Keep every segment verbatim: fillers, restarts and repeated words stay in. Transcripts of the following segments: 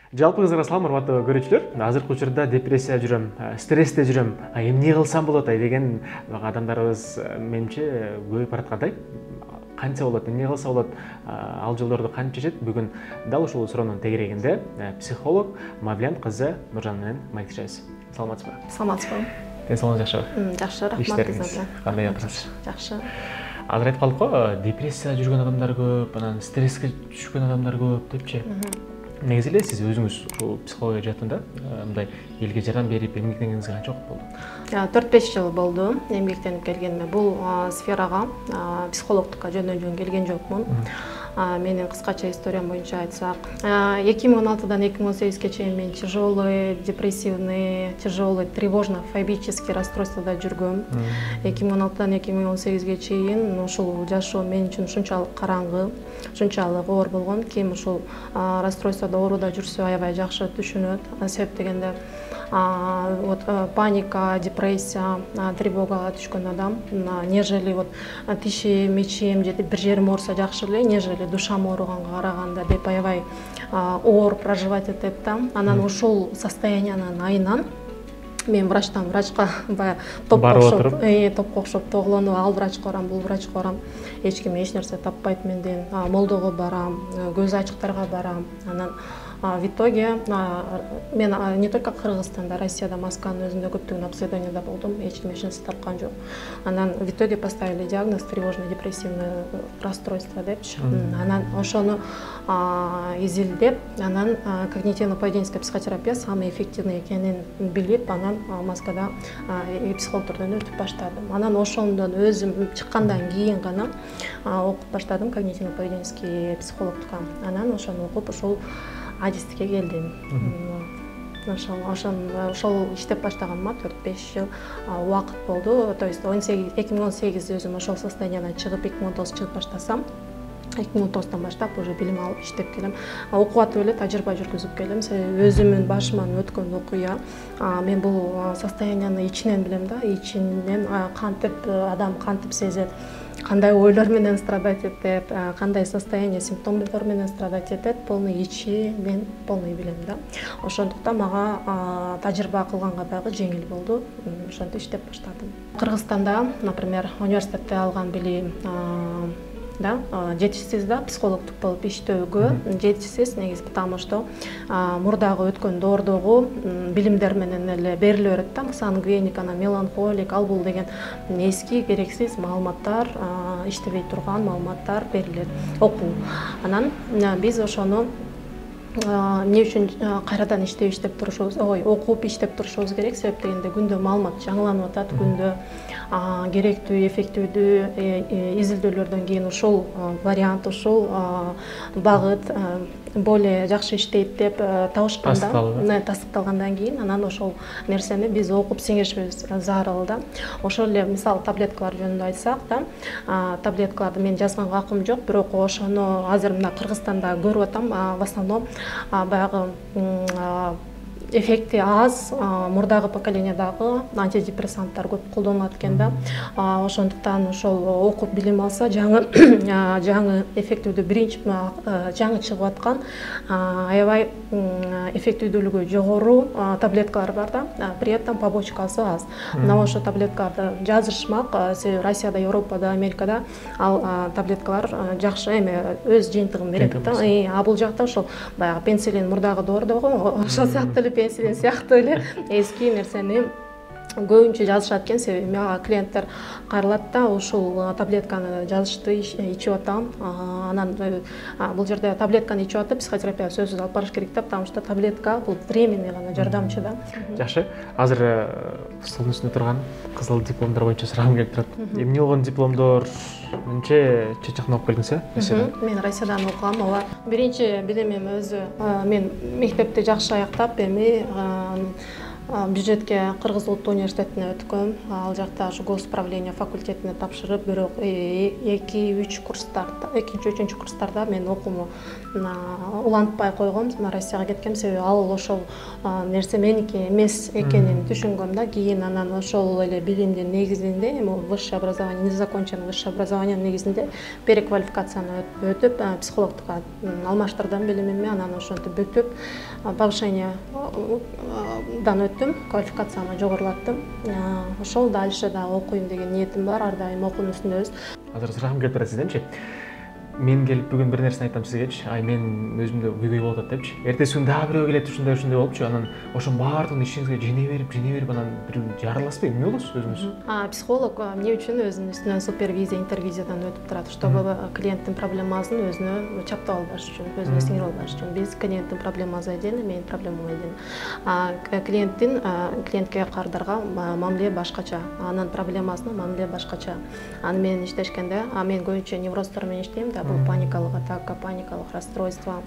Жалпы кыздар салам, урматтуу көрүүчүлөр. Азыркы учурда депрессия жүрөм, стрессте жүрөм, эмне кылсам болот деген адамдарыбыз менимче көбөйүп бараткандай. Канча болот, эмне кылса болот, ал жолдорду кантип чечет? Бүгүн дал ушул суроонун тегерегинде психолог Мавлен кызы Нуржан менен маектешебиз. Саламатсызбы? Саламатсызбы. Ден соолугуңуз жакшыбы? Жакшы, рахмат. Кандай жатасыз? Жакшы. Азыр айтып калдык го, депрессия жүргөн адамдар көп, анан стресске түшкөн адамдар көп депчи. Негизи эле сиз өзүңүз ушул психология жаатында мындай элге жардам берип эмгектенгениңизге канча убакыт болду? төрт беш жыл болду эмгектенип келгениме. Бул сферага, психологдукка жөндөн-жөн келген жокмун. Менин кыскача историям боюнча айтсак, эки миң он алтыдан эки миң он сегизге чейин мен тяжелый, депрессивный, тяжелый, тревожно-фобический расстройствода жүргөм. эки миң он алтыдан эки миң он сегизге чейин ушул жашоо мен үчүн ушунчалык караңгы, ушунчалык оор болгон. Ким ушул расстройстводо ооруда жүрсө аябай жакшы түшүнөт. Себеп дегенде вот паника, депрессия, тревогага түшкөн адам, нежели вот тишим, мечим же бир жерим ооруса жакшы эле, нежели душам ооруганга караганда деп аябай оор проживать этет да. Анан ушул состояниянын айынан мен врачтан врачка баягы топко окшоп, топко окшоп тоглонуп, ал врачка барам, бул врачка барам. Эч ким эч нерсе таппайт менден. Молдого барам, көз ачыктарга барам. Анан в итоге мен не только Кыргызстанда, Россияда, Москванын өзүндө көптөгөн обследованияда болдум, эч ким эч нерсе тапкан жок. Анан в итоге поставили диагноз тревожно-депрессивное расстройство депчи. Анан ошону изилдеп, анан когнитивно-поведенческая психотерапия самый эффективный экенин билип, анан Москвада психологдордон өтүп баштадым. Анан ошондон өзүм чыккандан кийин гана окуп баштадым когнитивно-поведенческий психологдукка. Анан ошону окуп ушул адистикке келдим. Ошол ошол ошол иштеп баштаганыма төрт беш жыл убакыт болду. То есть эки миң он сегиз өзүм ошол состояниядан чыгып, эки миң он тогуз чыгып баштасам, эки миң он тогуздан баштап уже билим алып иштеп келем. Окуп атып эле тажрыйба жүргүзүп келем. Себеби өзүмдүн башыман өткөн окуя. Мен бул состоянияны ичинен билем да, ичинен кантип адам кантип сезет, кандай ойлор менен страдать этет, кандай состояние, симптомдор менен страдать этет, полный ичи мен полный билем да. Ошондуктан мага тажрыйба кылганга дагы жеңил болду. Ошентип иштеп баштадым. Кыргызстанда, например, университетте алган билим да, жетишсиз да, психологдук болуп иштөөгө жетишсиз негизи, потому что мурдагы өткөн доордогу билимдер менен эле бериле берет да. Сангвиник, анан меланхолик, ал бул деген эски керексиз маалыматтар, иштебей турган маалыматтар берилет, окуу. Анан биз ошону эмне үчүн кайрадан иштеп иштеп турушубуз, ой, окуп иштеп турушубуз керек. Себеп дегенде күндө маалымат жаңыланып атат, күндө керектүү, эффективдүү изилдөөлөрдөн кийин ушул вариант, ушул багыт более жакшы иштейт деп табышканда, тастыкталгандан кийин анан ошол нерсени биз окуп сиңиришибиз зарыл да. Ошол эле мисалы таблеткалар жөнүндө айтсак да, таблеткаларды мен жазганга акым жок, бирок ошону азыр мына Кыргызстанда көрүп атам, в основном баягы эффекти аз, мурдагы поколениядагы антидепрессанттар көп колдонулат экен да. Ошондуктан ошол окуп билим алса, жаңы жаңы эффективдүү биринчи жаңы чыгып аткан аябай эффективдүүлүгү жогору таблеткалар бар да. При этом побочкасы аз. Мына ошо таблеткаларды жазышмак, Россияда, Европада, Америкада ал таблеткалар жакшы эме өз жыйынтыгын берет да. А бул жакта ошол баягы пенсилин мурдагы доордогу ошол сыяктуу эле пенсилин сыяктуу эле эски нерсени көбүнчө жазышат экен. Себеби мага клиенттер кайрылат да, ушул таблетканы жазышты, ичип атам. Анан бул жерде таблетканы ичип атып психотерапия сөзсүз алып барыш керек да, потому что таблетка бул временный гана жардамчы да. Жакшы. Азыр столдун үстүндө турган кызыл дипломдор боюнча сурагым келип турат. Эмне болгон дипломдор, эмнече чет жактан окуп келдиңиз э? Россиядан? Мен Россиядан окугам. Ооба. Биринчи билимим өзү мен мектепти жакшы аяктап, эми бюджетке Кыргыз Улуттук университетине өткөм. Ал жакта госуправление факультетине тапшырып, бирок эки үч курстарда, экинчи үчүнчү курстарда мен окууну улантпай койгом, Россияга кеткем. Себеби ал ошол нерсе меники эмес экенин түшүнгөм да. Кийин анан ошол эле билимдин негизинде, эми высшее образование, незаконченное высшее образование негизинде переквалификацияны өтүп, психологдукка алмаштырдым билимимди. Анан ошентип бүтүп, повышение дан өттүм, квалификациямды жогорулаттым. Ошол дальше да окуйм деген ниетим бар, ар дайым окуунун үстүндөбүз. Азыр сурагым келип турат сизденчи. Мен келип бүгүн бир нерсени айтам сизгечи, ай мен өзүмдө күйгөй болуп атат депчи. Эртеси күнү дагы бирөө келет, ушундай ушундай болупчу. Анан ошонун баардыгын ишиңизге жене берип, жене берип, анан бир жарыласызбы? Эмне болосуз өзүңүз? Психолог эмне үчүн өзүнүн үстүнөн супервизия, интервизиядан өтүп турат, чтобы клиенттин проблемасын өзүнө чаптап албаш үчүн, өзүнө сиңирип албаш үчүн. Биз клиенттин проблемасы отдельно, менин проблемам отдельно. Клиенттин клиентке кардарга мамиле башкача, анын проблемасына мамиле башкача. Аны менен иштешкенде, мен көбүнчө неврозтор менен иштейм да, бул паникалык атака, паникалык расстройство,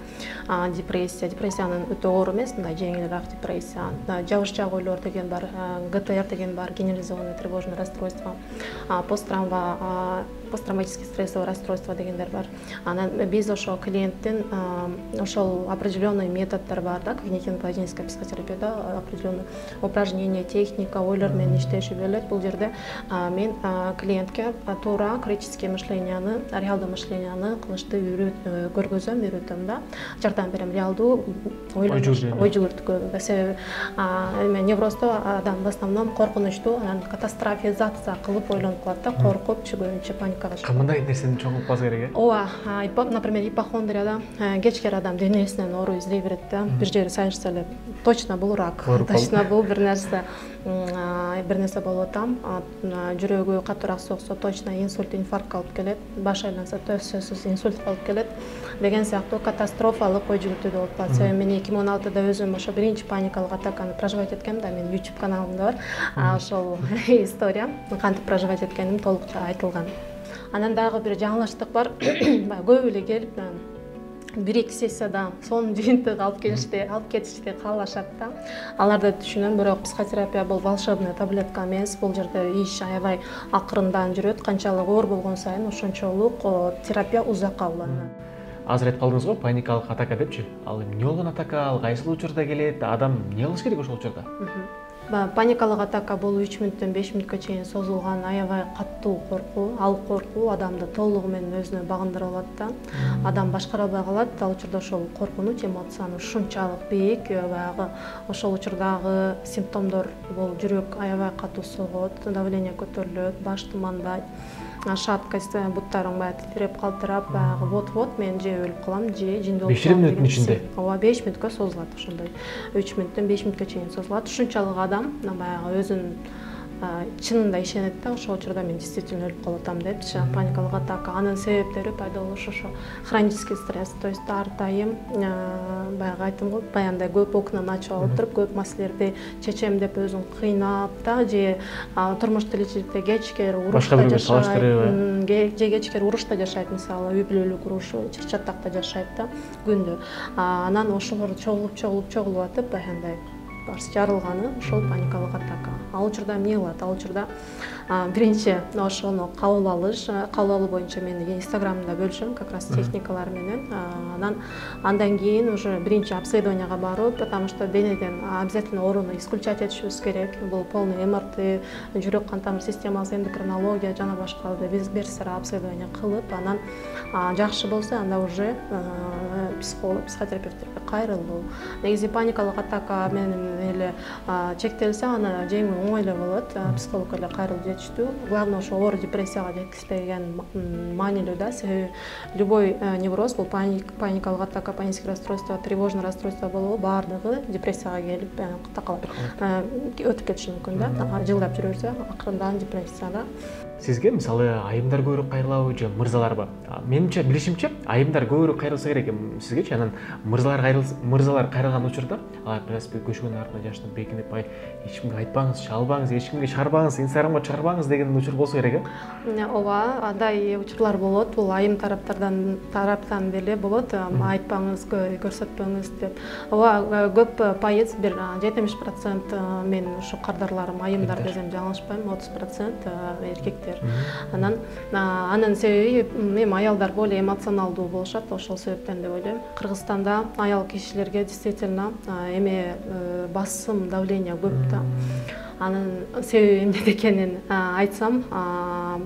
депрессия. Депрессиянын өтө оор эмес, мындай жеңилирээк депрессия. Жабышчаак ойлор деген бар, ГТР деген бар, генерализованное тревожное расстройство, посттравма, посттравматический стрессовое расстройство дегендер бар. Анан биз ошол клиенттин ошол определенный методдор бар да, когнитивно-поведенческая психотерапияда определенный упражнение, техника, ойлор менен иштеши берилет. Бул жерде мен клиентке туура критическое мышленияны, реалдуу мышленияны кылышты көргөзөм, үйрөтөм да. Жардам берем реалдуу ой жүгүртүүгө. Себеби невроздо адам в основном коркунучтуу, анан катастрофизация кылып ойлонуп калат да, коркуп, көбүнчө паникага чыгат. Кандай нерсени чоң кылып калса керек э? Ооба, например, ипохондрияда кечкери адам денесинен оору издей берет да. Бир жери сайышса эле точно бул рак, точно бул бир нерсе, бир нерсе болуп атам, жүрөгү катуураак соксо точно инсульт, инфарктка алып келет, баш айланса сөзсүз инсультка алып келет деген сыяктуу катастрофалык ой жүгүртүүдө болуп калат. Себеби мен эки миң он алтыда өзүм ошо биринчи паникалык атаканы проживать эткем да, менин YouTube каналымда бар. Ошол история, кантип проживать эткеним толук айтылган. Анан дагы бир жаңылыштык бар. Көп эле келип бир-эки сессияда сонун жыйынтык алып келишти, алып кетишти, каалашат да. Аларды түшүнөм, бирок психотерапия бул волшебная таблетка эмес. Бул жерде иш аябай акырындан жүрөт. Канчалык оор болгон сайын ошончолук терапия узакка уланат. Азыр айтып калдыңыз го, паникалык атака депчи. Ал эмне болгон атака, ал кайсыл учурда келет, адам эмне кылыш керек ошол учурда? Паникалык атака бул үч мүнөттөн беш мүнөткө чейин созулган аябай каттуу коркуу. Ал коркуу адамды толугу менен өзүнө багындырып алат да. Адам башкара албай калат. Ал учурда ошол коркунуч эмоцияны ушунчалык бийик, баягы ошол учурдагы симптомдор бул жүрөк аябай катуу согот, давление көтөрүлөт, баш тумандайт, шаткость, буттарың баягы титиреп калтырап, баягы вот-вот мен же өлүп калам, же жинде болуп калам. беш мүнөттүн ичинде? Ооба, беш мүнөткө созулат ошондой. үч мүнөттөн беш мүнөткө чейин созулат. Ушунчалык адам баягы өзүн чынында ишенет да, ошол учурда мен действительно өлүп калып атам депчи. Паникалык атака, анын себептери пайда болушу ошо хронический стресс, то есть ар дайым баягы айттым го, баягындай көп окнаны ачып алып туруп, көп маселелерди чечем деп өзүн кыйнап да, же турмуш тиричиликте кечкери урушта жашайт, же кечкери урушта жашайт, мисалы үй бүлөлүк уруш, чыр-чатакта жашайт да күндү. Анан ошолор чогулуп чогулуп чогулуп атып, баягындай барсы жарылганы ошол паникалык атака. Ал учурда эмне кылат? Ал учурда биринчи ошону кабыл алыш, кабыл алуу боюнча мен инстаграмда бөлүшөм, как раз техникалар менен. Анан андан кийин уже биринчи обследованияга барып, потому что денеден обязательно ооруну исключать этишибиз керек. Бул полный эм эр тэ, жүрөк кан тамыр системасы, эндокринология жана башкаларды биз бир сыра обследование кылып, анан жакшы болсо анда уже психолог, психотерапевттерге кайрылуу. Негизи паникалык атака менен эле чектелсе, аны жеңүү оңой эле болот. Психологко эле кайрылып жетиштүү. Главное ошо оор депрессияга жеткизбеген маанилүү да. Себеби любой невроз, бул паникалык атака, паническое расстройство, тревожное расстройство болобу, баардыгы депрессияга келип такалат. Өтүп кетиши мүмкүн да. Жылдап жүрө берсе, акырындан депрессияга. сизге мисалы айымдар көбүрөөк кайрылабы же мырзаларбы? Менимче, билишимче, айымдар көбүрөөк кайрылса керек сизгечи, анан мырзалар кайрылса, мырзалар кайрылган учурда алар велосипед көчкөнүн артына жашынып бекинип, ай эч кимге айтпаңыз, чалбаңыз, эч кимге чыгарбаңыз, инстаграмга чыгарбаңыз деген учур болсо керек э? Ооба, андай учурлар болот. Бул айым тараптардан тараптан деле болот. Айтпаңыз, көрсөтпөңүз деп. Ооба, көп пайыз, бир жетимиш процент мен ушу кардарларым айымдар десем жаңылышпайм, отуз процент эркектер. Анан анын себеби эми аялдар более эмоционалдуу болушат, ошол себептен деп ойлойм. Кыргызстанда аял кишилерге действительно эме басым, давление көп да. Анын себеби эмнеде экенин айтсам,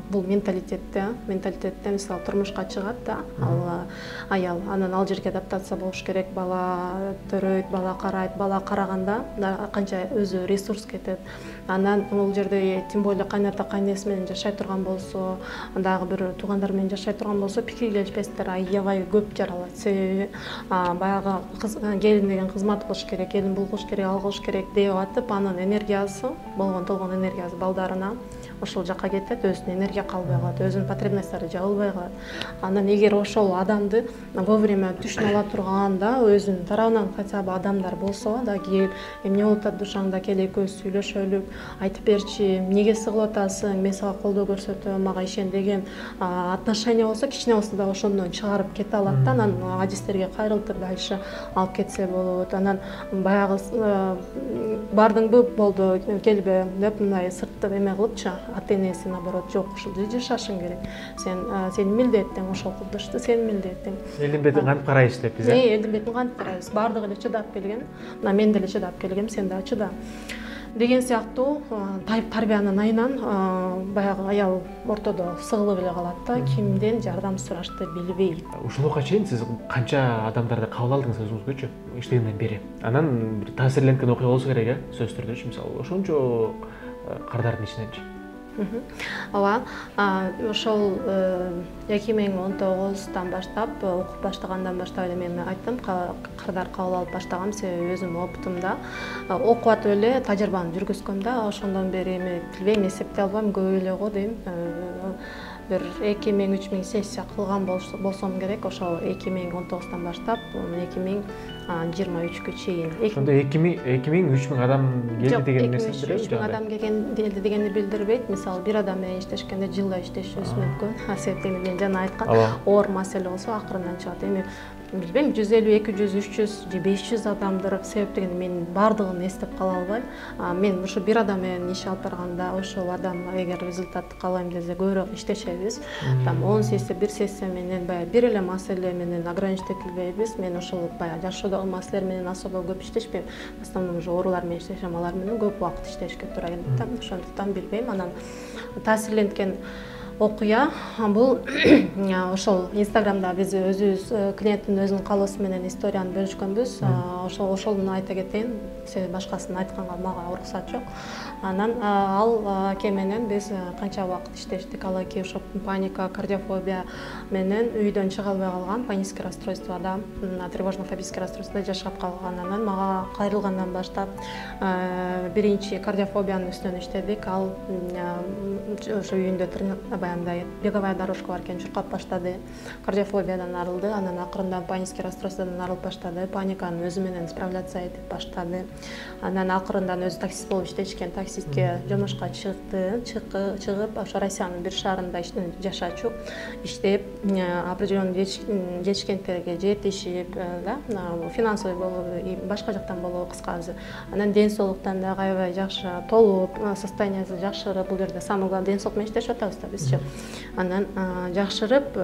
бул менталитетте, менталитетте мисалы турмушка чыгат да, ал аял, анан ал жерге адаптация болуш керек, бала төрөйт, бала карайт, бала караганда канча өзү ресурс кетет. Анан бул жерде тем более кайната кайнеси менен жашай турган болсо, дагы бир туугандар менен жашай турган болсо, пикир келишпестер аябай көп жаралат. Себеби баягы келин деген кызмат кылыш керек, келин булгуш керек, ал кылыш керек деп атып, анын энергиясы, болгон толгон энергиясы балдарына ошол жака кетет, өзүнүн энергия калбай калат, өзүнүн потребностьтары жабылбай калат. Анан эгер ошол адамды вовремя түшүнө ала турган да, өзүнүн тарабынан хотя бы адамдар болсо да, кел, эмне болуп атат душаңда, кел экөөбүз сүйлөшөлүк, айтып берчи, эмнеге сыгылып атасың, мен сага колдоо көрсөтөм, мага ишен деген отношение болсо, кичине болсо да ошондон чыгарып кете алат да, анан адистерге кайрылтып дальше алып кетсе болот. Анан баягы бардыңбы, болду, келбе деп мындай сыртты эме кылыпчы, ата энеси наоборот, жок, ушул жашашың керек. Сен сенин милдетиң ошол кылдышты, сенин милдетиң. Элдин бетин кантип карайбыз деппиз, э? Элдин бетин кантип карайбыз? Бардыгы эле чыдап келген. Мына мен деле чыдап келгем, сен дагы чыда. Деген сыяктуу тарбиянын айынан баягы аял ортодо сыгылып эле калат да, кимден жардам сурашты билбей. Ушунга чейин сиз канча адамдарды кабыл алдыңыз өзүңүзгөчү иштегенден бери? Анан бир таасирленткен окуя болсо керек э, сөзсүз түрдөчү, мисалы ошончо кардардын ичиненчи. Ооба, ошол эки миң он тогуздан баштап, окуп баштагандан баштап эле мен айттым, кардар кабыл алып баштагам, себеби өзүмдүн опытымда окуп атып эле тажрыйбаны жүргүзгөм да, ошондон бери эми билбейм, эсептей албайм, көп эле го дейм. Бир эки миң үч миң сессия кылган болсом керек, ошол эки миң он тогуздан баштап эки миң жыйырма үчкө чейин. Ошондо эки миң үч миң адам келди деген нерсе билдирбейби? үч миң адам келди дегенди билдирбейт. Мисалы бир адам менен иштешкенде жылда иштешибиз мүмкүн. Себеби мен жана айткан оор маселе болсо акырындан чыгат. Эми билбейм, жүз элүү, эки жүз, үч жүз же беш жүз адамдыр, себеп деген мен бардыгын эстеп кала албайм. Мен ушу бир адам менен иш алып барганда, ошол адам эгер результатты каалайм десе көбүрөөк иштешебиз. Там он сессия, бир сессия менен баягы бир эле маселе менен ограничить этилбейбиз. Мен ошол баягы жашоодогу маселелер менен особо көп иштешпейм. В основном уже оорулар менен иштешем, алар менен көп убакыт иштешке туура келет да. Ошондуктан билбейм. Анан таасирленткен окуя бул ошол Инстаграмда биз өзүбүз клиенттин өзүнүн каалоосу менен историяны бөлүшкөнбүз. Ошол ошону айта кетейин. Себеби башкасын айтканга мага уруксат жок. Анан ал аке менен биз канча убакыт иштештик. Ал аке ошо паника, кардиофобия менен үйдөн чыга албай калган, панический расстройствода, тревожно-фобический расстройствода жашап калган. Анан мага кайрылгандан баштап биринчи кардиофобиянын үстүнөн иштедик. Ал ошо үйүндө баягындай беговая дорожка бар экен, чуркап баштады. Кардиофобиядан арылды, анан акырындан панический расстройстводан арылып баштады. Паниканы өзү менен справляться этип баштады. Анан акырындан өзү таксист болуп иштешкен, таксистке жомошко чыкты, чыгып ошо Россиянын бир шаарында жашачу, иштеп, определенный жетишкендиктерге жетишип, да, финансовый болобу, башка жактан болобу, кыскасы. Анан ден соолуктан дагы аябай жакшы толуп, состояниясы жакшырып, бул жерде самый главный ден соолук менен иштешип атабыз да бизчи. Анан жакшырып,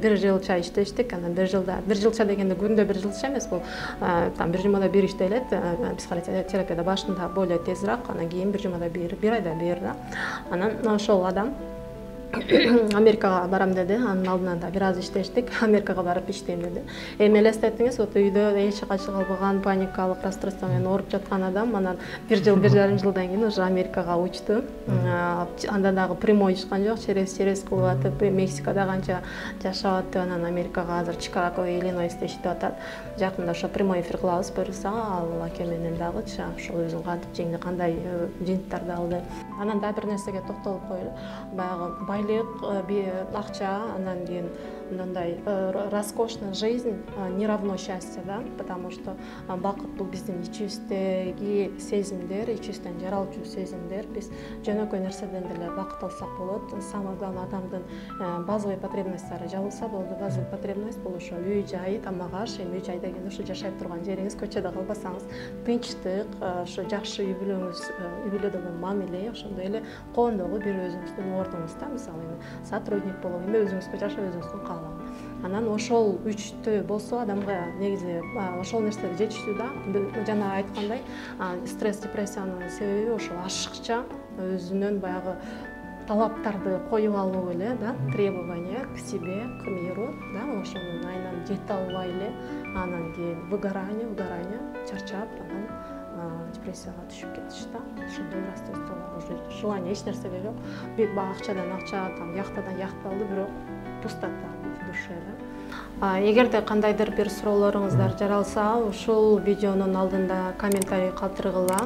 бир жылча иштештик. Анан бир жылда, бир жылча дегенде күндө бир жылча эмес, бул там бир жумада бир иштелет. Психотерапияда башында более тезирээк, анан кийин бир жумада бир, бир айда бир да. Анан ошол адам Америкага барам деди. Анын алдынан да бир аз иштештик. Америкага барып иштейм деди. Эми элестеттиңиз, вот үйдө эч качы калбаган, паникалык расстройство менен ооруп жаткан адам анан бир жыл, бир жарым жылдан кийин уже Америкага учту. Анда дагы прямой учкан жок, через через кылып атып, Мексикада канча жашап атып, анан Америкага азыр Чикаго, Иллинойсте иштеп атат. Жакында ошо прямой эфир кылабыз буюрса, ал аке менен дагычы ошол өзүң кантип жеңди, кандай жыйынттарды алды. Анан дагы бир нерсеге токтолуп коелу. Баягы байлык, акча, анан кийин мындай роскошная жизнь не равно счастье, да, потому что бакыт бул биздин ичибиздеги сезимдер, ичибизден жаралчу сезимдер. Биз жөнөкөй нерседен деле бакыт алсак болот. Самый главный адамдын базовый потребностьтары жабылса болду. Базовый потребность бул ошо үй жай, тамак аш. Эми үй жай дегенде ошо жашап турган жериңиз, көчөдө калбасаңыз, тынчтык, ошо жакшы үй бүлөңүз, үй бүлөдөгү мамиле, ошондой эле коондогу бир өзүңүздүн ордуңуз да, мисалы эми сотрудник болуп, эми өзүңүзгө жашап өзүңүздүн каалаган. Анан ошол үчтөө болсо адамга негизи ошол нерселер жетиштүү да. Жана айткандай, стресс, депрессиянын себеби ошол ашыкча өзүнүн баягы талаптарды коюп алуу эле, да, требования к себе, к миру, да, ошонун айынан жете албай эле, анан кийин выгорание, выгорание, чарчап, анан депрессияга түшүп кетиш да. Ошондой расстройстволор, уже желание эч нерсеге жок. Бир акчадан акча, там яхтадан яхта алды, бирок пустота в душе, да. Эгерде кандайдыр бир суроолоруңуздар жаралса, ушул видеонун алдында комментарий калтыргыла.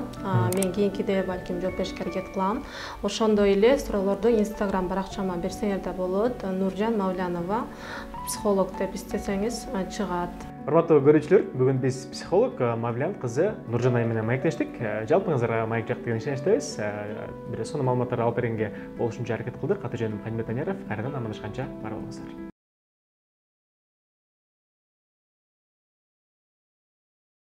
Мен кийинкиде балким жооп беришке аракет кылам. Ошондой эле суроолорду Instagram баракчама берсеңер да болот. Нуржан Мавлянова, психолог деп издесеңиз чыгат. Урматтуу көрүүчүлөр, бүгүн биз психолог Мавлян кызы Нуржан айым менен маектештик. Жалпыңыздарга маек жакты деген ишеничтебиз. Бир сонун маалыматтарды алып бергенге болушунча аракет кылдык. Аты жөнүм Хамит Аняров. Кайрадан амандашканча бар болуңуздар.